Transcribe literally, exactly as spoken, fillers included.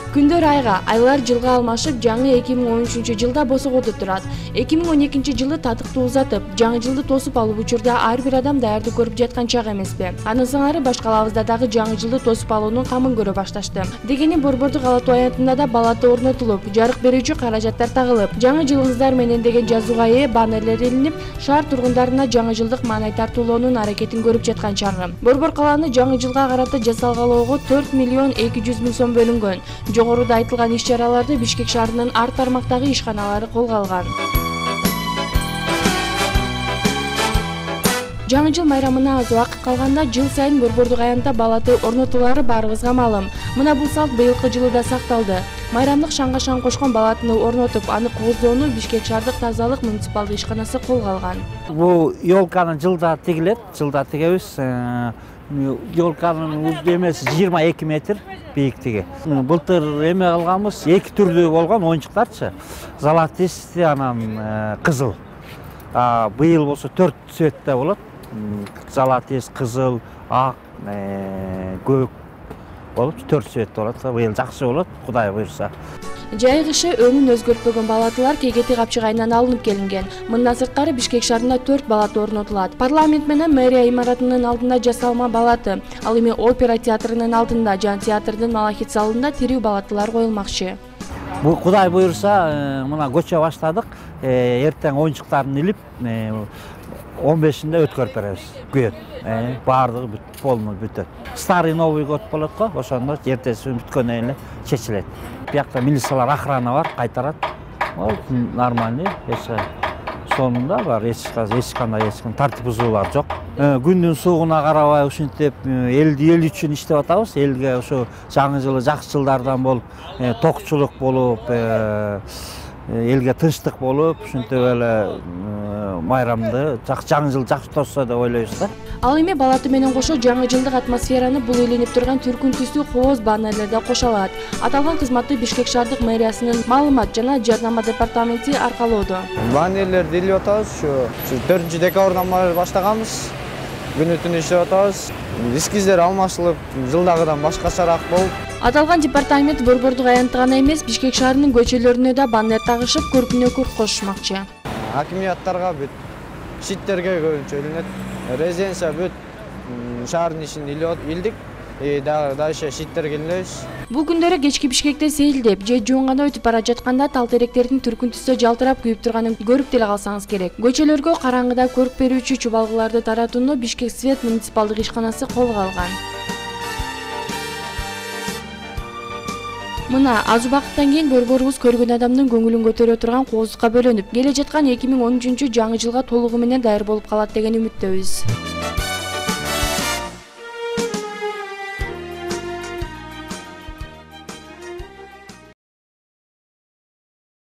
Күндөр айга, айлар жылга алмашып, жаңы эки миң он үчүнчү жылда босогодо турат. эки миң он экинчи жылы татыктуу узатып, жаңы жылды тосуп алуу учурда ар бир адам даярдык көрүп жаткан чак эмеспи? Анын сыңары баш калабызда дагы жаңы жылды тосуп алуунун камын көрө башташты. Дегени Борбордук ала тоо аянтында да балаты орнотулуп, жарык берүүчү каражаттар тагылып, жаңы жылыңыздар менен деген жазууга ээ баннерлер илинип, шаар тургундарына жаңы жылдык маанай тартуулоонун аракетин көрүп жаткан чагы. Борбор калааны жаңы жылга карата жасалгалоого төрт миллион эки жүз миң сом бөлүнгөн. Жогоруда айтылган иш-чараларды Бишкек шаарынын ар тармактагы ишканалары колго алган. Жаңы жыл майрамына аз убакыт калганда жыл сайын Борбордук аянтта балаты орнотуулары баарыбызга маалым. Мына бул салт быйылкы жылы да сакталды. Майрамдык шаңга шаң кошкон балатыны орнотуп, аны кооздоону Бишкек шаардык тазалык муниципалдык ишканасы колго алган. Бул ёлканы жылда тигилет, жылда тигебиз. Ёлканын эмеси жыйырма эки метр бийиктиги. Былтыр эме кылганбыз, эки түрдүү болгон оюнчуктарчы. Золотистый, анан кызыл. А быйыл болсо төрт цветте болот. Золотист, кызыл, ак, көк болуп төрт цвет болот. Быйыл жакшы болот, Кудай буйрса. Жай кышы өңүн өзгөртпөгөн балатылар кегети капчыгайынан алынып келинген. Мындан сырткары Бишкек шаарында төрт балаты орнотулат. Парламент менен мэрия имаратынын алдында жасалма балаты, ал эми опера театрынын алдында жана театрдын Малахит залында тирүү балатылар коюлмакчы. Бул Кудай буйрса, мына көчө баштадык. Эртең оюнчуктарын илип, он бешинде өткөрүп беребиз. Күйөт. Баардыгы бүт, полный бүтөт. Старый Новый год болот го, ошондо эртеси бүткөндөн эле чечилет. Биякта милициялар, охрана бар, кайтарат. Ол нормальный, эч сонунда бар, эч кандай эч кандай тартип бузуулар жок. Күндүн суугуна карабай ушинтип элди эл үчүн иштеп атабыз. Элге ошо жаңы жылы жакшы жылдардан болуп, токчулук болуп, элге тынчтык болуп, ушинтип эле майрамды жаңы жыл жакшы тосса деп ойлойбуз да. Ал эми балаты менен кошо жаңы жылдык атмосфераны бул илинип турган түркүн түстүү кооз баннерлер да кошо алат. Аталган кызматты Бишкек шаардык мэриясынын маалымат жана жардама департаменти аркалоодо. Баннерлерди илип атабыз, ушу төртүнчү декабрдан баштаганбыз. Күнү түнү иштеп атабыз. Эскиздер алмашылып, жылдагыдан башкачараак болуп. Аталган департамент Борбордук аянтта гана эмес, Бишкек шаарынын көчөлөрүнө да баннер тагышып, көркүнө көрк кошушмакчы. Акимияттарга бүт шиттерге көбүнчө илинет. Резиденция бүт шаардын ишин илдик. Дальше шиттерге илебиз. Бул күндөрү кечки Бишкекте сейилдеп же жуунганда өтүп бара жатканда тал теректердин түркүн түстө жалтырап күйүп турганын көрүп деле калсаңыз керек. Көчөлөргө караңгыда көрк берүүчү чубалгыларды таратууну Бишкек свет муниципалдык ишканасы колго алган. Мына аз убакыттан кийин борборубуз көргөн адамдын көңүлүн көтөрө турган кооздукка бөлөнүп, келе жаткан эки миң он үчүнчү жаңы жылга толугу менен даяр болуп калат деген үмүттөбүз.